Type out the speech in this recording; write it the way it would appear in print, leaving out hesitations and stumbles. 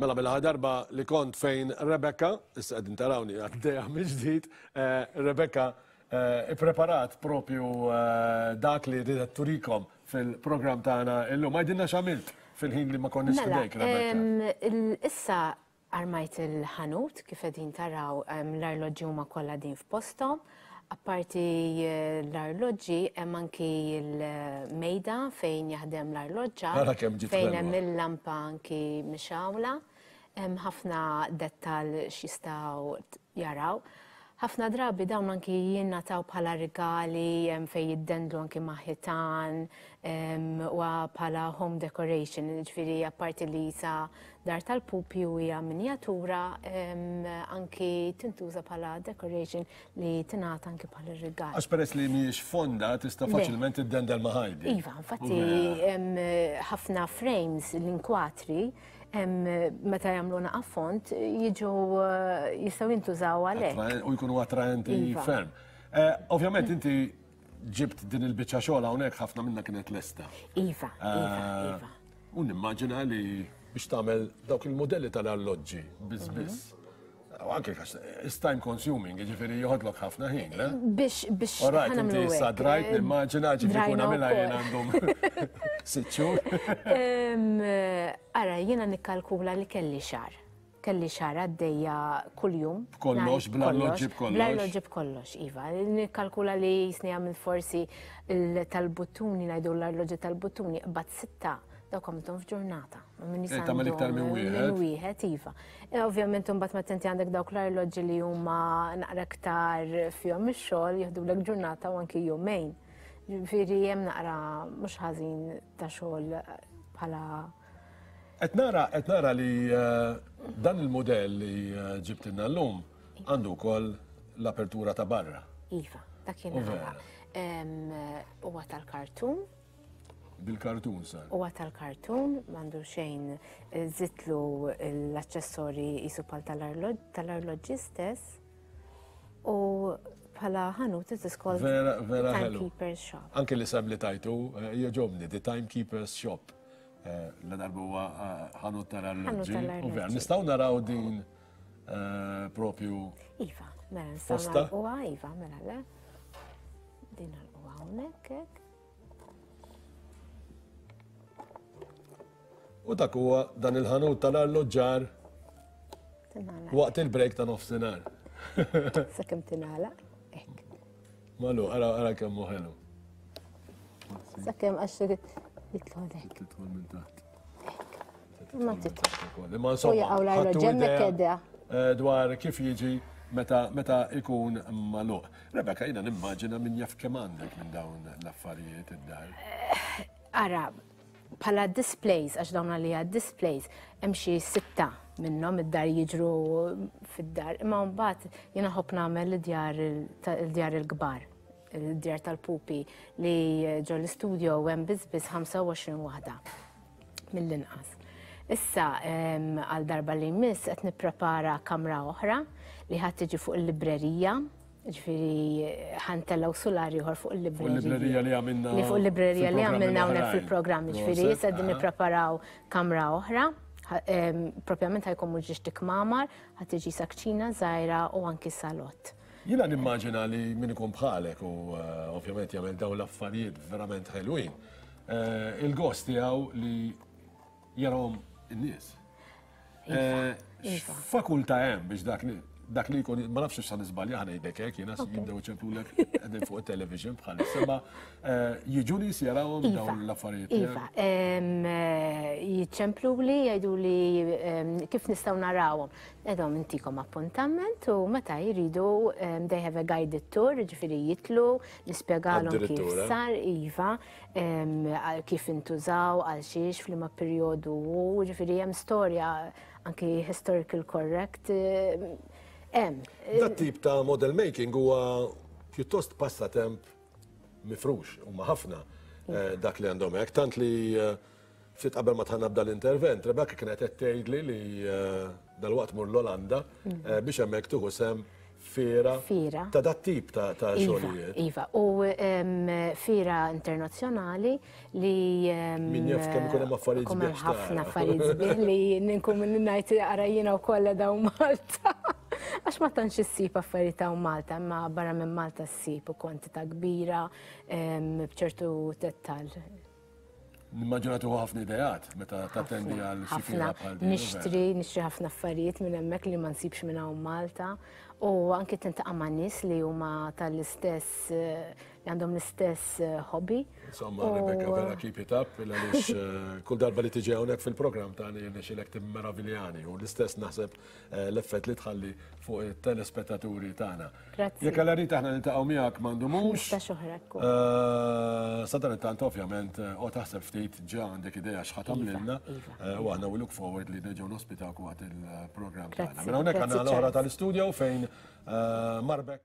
Mela mela darba li kont fejn Rebecca, issa qegħdin tarawni għaddejja mill-ġdid, eh, Rebecca eh, ippreparat propju eh, dak li ridet turikom fil-programm tagħna illum. Għidilna x'għamilt fil-ħin li ma konniex Mela, fidejk, Rebecca. Issa armajt il-ħanut kif qegħdin taraw l-arloġġi huma kollha din f'posthom. Apparti l-arloġġi hemm anki l-mejda fejn jaħdem l-arloġġar. Ara kemm ġiet Fejn ħelwa. hemm il-lampa anki mixgħula. Hemm ħafna dettal x'jistgħu jaraw. Ħafna drabi dawn anki jingħataw bħala rigali fejn jiddendlu anki ma' ħitan u bħala home decoration, ġifieri apparti li sa dar tal-pupi u hija minjatura anki tintuża bħala decoration li tingħata anki bħala rigal. Għax peress li mhijiex fonda tista' faċilment iddendel ma' ħajdi. Iva, infatti ħafna frames l-inkwatri meta jagħmlu naqa' font jiġu jistgħu jintużaw għalhekk. U jkunu attraenti Iva. ferm. Ovvjament inti ġibt din il-biċċa xogħol hawnhekk ħafna minna kienet lesta. Iva, iva, iva. U nimmaġina li biex tagħmel dawk il-modelli tal-arloġġi biss biss. U anke għax it's time consuming, jiġifieri joħodlok ħafna ħin, le? Biex All right, ħa nagħmlu inti issa hekk, drajt, nimmaġina ġifieri kun drajna għamilha wkoll. jien għandhom sitt xhur. Ara, jiena nikkalkula li kelli xahar. Kelli xahar għaddejja kuljum. B'kollox, Ngħid bl-arloġġi b'kollox. Bl-arloġġi b'kollox, iva. Nikkalkula li jisni għamil forsi tal-buttuni, ngħidu l-arloġġi tal-buttuni, qbad 6, dawk għamilthom f'ġurnata. Ma minni Eh, tagħmel iktar minn għandhom wieħed. Minn wieħed, iva. Ovvjament imbagħad meta inti għandek dawk l-arloġġi li huma naqra iktar fihom ix-xogħol, jieħdulek ġurnata u anki jumejn. Ġifieri hemm naqra mhux ħażin ta' xogħol bħala Qed nara li dan il-mudell li ġibtilna llum għandu wkoll l-apertura ta' barra. Iva, dak kien U nara. vera. Huwa tal-kartun. Bil-kartun sar. Huwa tal-kartun, m'għandu xejn, żidtlu l-aċċessorji qisu bħal tal-arloġġi stess. U bħala ħanut it is called Vera, vera ħelu. Timekeeper's Shop. Anke li sem li tajtu, jogħġobni, The Timekeeper's Shop. La darba huwa ħanut tal-arloġġi. Ħanut tal-arloġġi. U vera, nistgħu naraw din propju Iva, mela nistgħu posta? nagħlquha, iva, mela le. Din nagħlquha hawnhekk hekk. U dak huwa dan il-ħanut tal-arloġġar Tingħalaq. waqt il-break ta' nofsinhar. Sakemm tingħalaq, hekk. Malu, ara, ara kemm hu ħelu. Sakemm għax jidħol hekk. Tidħol minn taħt. Ma tidħol. Imma insomma, U jaqgħu l-arloġġ ħadtu hemmhekk idea, qiegħda. dwar kif jiġi meta ikun magħluq. Rebecca, jiena nimmaġina min jaf kemm għandek minn dawn l-affarijiet id-dar. Ara, bħala displays, għax dawn għalija displays, hemm xi 6 minnhom id-dar jiġru fid-dar. Imma mbagħad jiena ħobb nagħmel il-djar il-kbar, il-djar tal-pupi li ġo l-istudio hemm biss biss 25 waħda mill-inqas. Issa, għal darba li jmiss qed nipprepara kamra oħra li ħadd tiġi fuq il-librerija, ġifieri ħantellaw sular ieħor fuq il-librerija. Fuq il-librerija li għamilna Li fuq il-librerija li fil-programmi għamilna hawnhekk l-oħrajn. fil-programm, ġifieri Proset, issa qegħdin aha. nippreparaw kamra oħra. Propjament ħajkun mhux ġiex tikmamar, ħadd tiġi sakċina żgħira u anki salott. Jiena nimmaġina li min ikun bħalek u ovvjament jagħmel dawn l-affarijiet verament ħelwin, il-gost tiegħu li jarahom in-nies. Iva, iva. X'fakultà hemm biex dak li jkun, ma nafx x'sa niżbalja ħa ngħidlek hekk, jiena jibdew iċemplulek qegħdin fuq it-television bħalissa, ma jiġu nies jarawhom Iva, dawn l-affarijiet Iva, tiegħek? jiċċempluli, jgħiduli kif nistgħu narawhom. Ngħidhom intikom appuntament u meta jridu, they have a guided tour, jiġifieri jitlu, nispjegalhom kif Addirittura. sar, iva, kif intużaw, għal xiex, f'liema perjodu hu, jiġifieri hemm storja anki historical correct, hemm. Dat tip ta' model making huwa pjuttost passatemp mifrux, huma ħafna dak li għandhom hekk, tant li ftit qabel ma tħanna bda l-intervent, Rebecca kienet qed tgħidli li dalwaqt mur l-Olanda biex hemmhekk tieħu sem fiera. Fiera. Ta' dat tip ta' iva, xogħlijiet. Iva, u fiera internazzjonali li. Min jaf kemm ikun hemm affarijiet sbieħ. Ħafna affarijiet sbieħ li nkun ngħid ara jiena wkoll dawn Malta. Għax ma tantx issib affarijiet hawn Malta, imma barra minn Malta ssib u kwantità kbira b'ċertu dettal. Nimmaġina tieħu ħafna ideat meta tattendi għal xi fiera bħal din. Nixtri, nixtri ħafna affarijiet minn hemmhekk li ma nsibx minn hawn Malta u anki tintaqa' ma' nies li huma tal-istess li għandhom l-istess eh, hobby. Insomma, Rebecca, vera keep it up, għaliex eh, kull darba li tiġi hawnhekk fil-programm tagħna jirnexxilek timmeraviljani u l-istess naħseb eh, l-effett li tħalli fuq it-telespettaturi tagħna. Grazzi. Jekk Alla rid aħna niltaqgħu miegħek m'għandumux. Ta' xoħra eh, Sadanittant ovvjament eh, u taħseb ftit ġa għandek idea x'ħa tagħmlilna Iva, iva. u aħna we look forward li nerġgħu nospitawk waqt il-programm tagħna. Mela hawnhekk għandna l-oħra tal-istudio fejn Marbek.